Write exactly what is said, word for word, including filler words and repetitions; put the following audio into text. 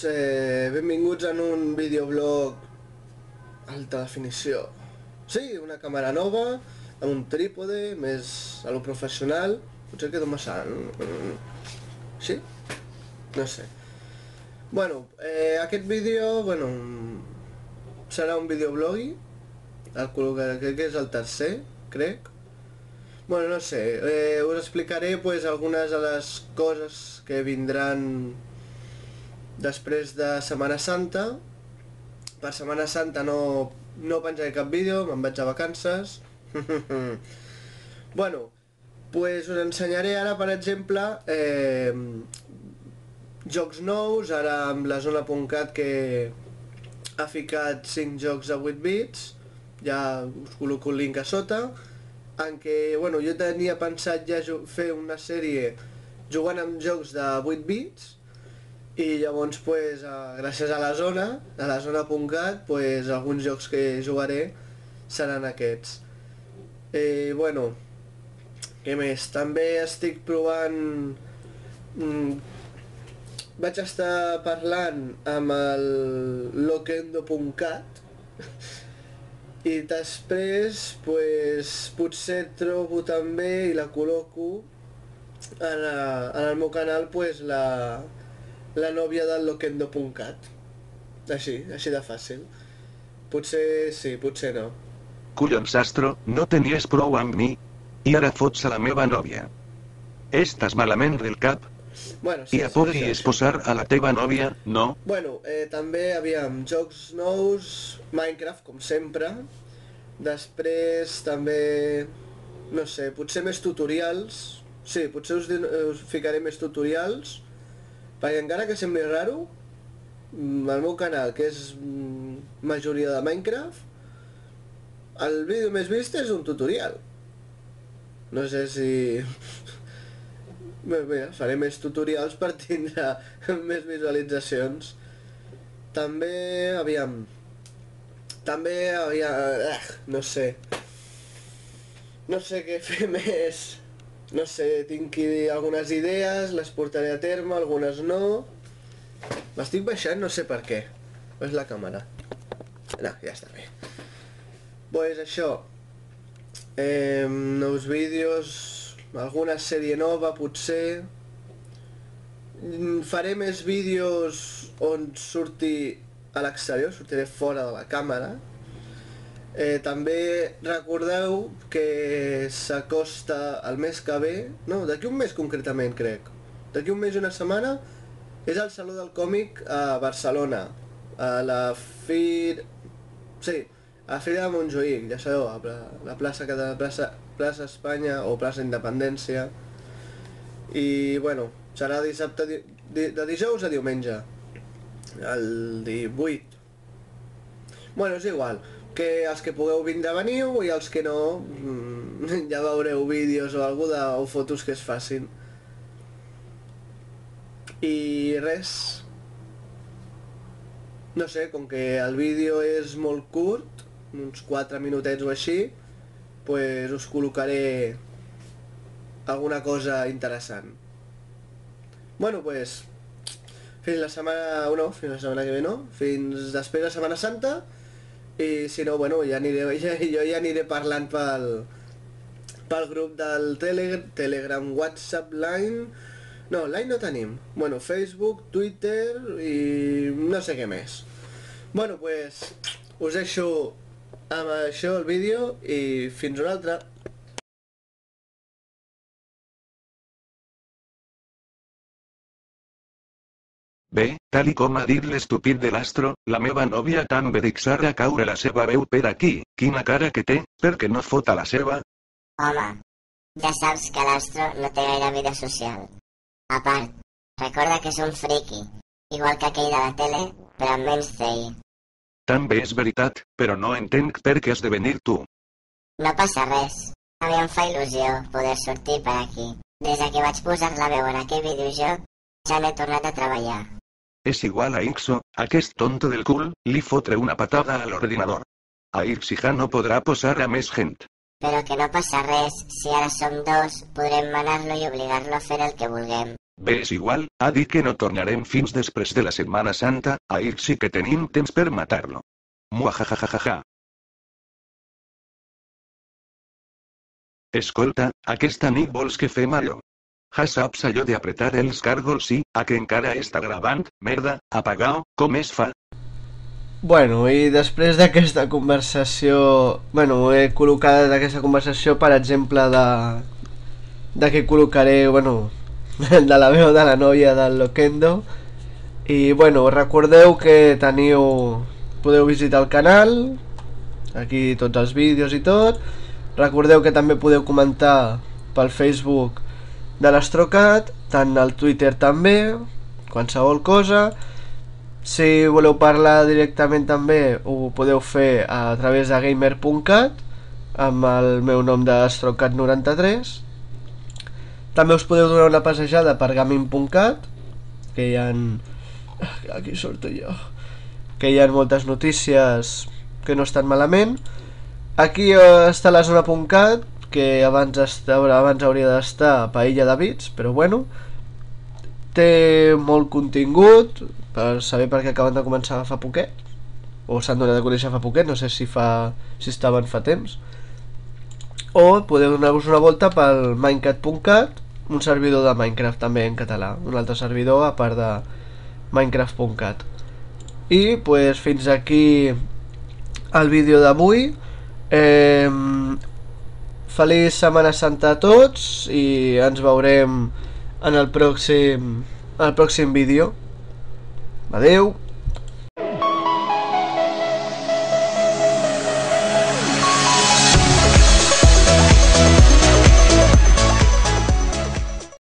eh, benvinguts en un videoblog alta definició. Sí, una càmera nova, amb un trípode, més a lo professional. Potser quedo massa... Sí? No sé. Bueno, eh, aquest vídeo, bueno, serà un videoblogui. El crec que és el tercer, crec. Bueno, no sé, eh, us explicaré pues algunes de les coses que vindran després de Setmana Santa. Per Setmana Santa no, no penjaré cap vídeo, me'n vaig a vacances. Bueno, pues us ensenyaré ara, per exemple, eh, jocs nous, ara amb la zona punt cat que ha ficat cinc jocs a vuit bits, ja us col·loco el link a sota, en què, bueno, jo tenia pensat ja fer una sèrie jugant amb jocs de vuit bits, i llavors, pues, gràcies a la zona, a la zona punt cat, pues, alguns jocs que jugaré seran aquests. Eh, bueno, què més? També estic provant... Mm, vaig estar parlant amb el Loquendo punt cat i després, pues, potser trobo també i la col·loco en, a, en el meu canal, pues, la, la nòvia del Loquendo punt cat. Així, així de fàcil. Potser sí, potser no. Collons, Astro, no tenies prou amb mi? I ara fots a la meva nòvia. Estàs malament del cap? Bueno, sí, I ja sí, podries sí, sí. posar a la teva nòvia, no? Bueno, eh, també havíem jocs nous, Minecraft, com sempre. Després també, no sé, potser més tutorials. Sí, potser us, us ficaré més tutorials. Perquè encara que sembli raro, el meu canal, que és majoria de Minecraft, el vídeo més vist és un tutorial. No sé si... Bé, bé, faré més tutorials per tindre més visualitzacions. També, aviam... També, aviam... Eh, no sé... No sé què fer més... No sé, tinc algunes idees, les portaré a terme, algunes no... M'estic baixant, no sé per què. És la càmera. No, ja està bé. Pues això... Eh, nous vídeos... Alguna sèrie nova, potser... Faré més vídeos on surti a l'exterior, sortiré fora de la càmera. Eh, també recordeu que s'acosta el mes que ve, no, d'aquí un mes concretament, crec. D'aquí un mes i una setmana és el Saló del Còmic a Barcelona, a la Fir... Sí, a la Fira de Montjuïc, ja sabeu, a la plaça, la plaça, plaça Espanya o plaça Independència. I, bueno, serà dissabte, de dijous a diumenge, el divuit. Bueno, és igual, que els que pugueu vindre veniu i els que no, ja veureu vídeos o algú de, o fotos que es facin. I res. No sé, com que el vídeo és molt curt, uns quatre minutets o així, pues us col·locaré alguna cosa interessant. Bueno, pues, fins la setmana... no, fins la setmana que ve no, fins després de Setmana Santa, i si no, bueno, ja aniré, ja, jo ja aniré parlant pel, pel grup del Telegram, Telegram, WhatsApp, Line... No, Line no tenim. Bueno, Facebook, Twitter i no sé què més. Bueno, pues, us deixo amb això el vídeo i fins una altra. Bé, tal i com ha dit l'estúpid de l'Astro, la meva nòvia també deixarà caure la seva veu per aquí. Quina cara que té, perquè no fot a la seva? Home, ja saps que l'Astro no té gaire vida social. A part, recorda que és un friki, igual que aquell de la tele, però amb menys C I. També és veritat, però no entenc per què has de venir tu. No passa res. A mi em fa il·lusió poder sortir per aquí. Des que vaig posar la veu en aquell videojoc, ja n'he tornat a treballar. És igual a Ixo, aquest tonto del cul, li fotré una patada a l'ordinador. A Ixija no podrà posar a més gent. Però que no passa res, si ara som dos, podrem manar-lo i obligar-lo a fer el que vulguem. Bé, és igual, ha dit que no tornarem fins després de la Setmana Santa, ahir sí que tenim temps per matar-lo. Muajajajajaja. Escolta, aquesta nit vols que fem allò? Ja saps allò d'apretar els càrgols sí, a que encara està gravant, merda, apaga-ho, com es fa? Bueno, i després d'aquesta conversació... Bueno, he col·locat aquesta conversació, per exemple, de... de que col·locaré, bueno, de la veu de la noia del Loquendo. I, bueno, recordeu que teniu... podeu visitar el canal, aquí tots els vídeos i tot. Recordeu que també podeu comentar pel Facebook de l'Astrocat, tant al Twitter també, qualsevol cosa. Si voleu parlar directament també ho podeu fer a través de gamer punt cat amb el meu nom d'Astrocat noranta-tres. També us podeu donar una passejada per gaming punt cat, que hi ha... aquí surto jo, que hi ha moltes notícies que no estan malament. Aquí està la zona punt cat, que abans, està, abans hauria d'estar Paella de Bits, però bueno, té molt contingut per saber per què acaben de començar fa poquet, o s'han donat a conèixer fa poquet, no sé si fa si estaven fa temps. O podeu donar-vos una volta pel minecraft punt cat, un servidor de Minecraft també en català, un altre servidor a part de minecraft punt cat. I pues, fins aquí el vídeo d'avui. eh, Feliç Setmana Santa a tots i ens veurem en el pròxim, en el pròxim vídeo. Adeu.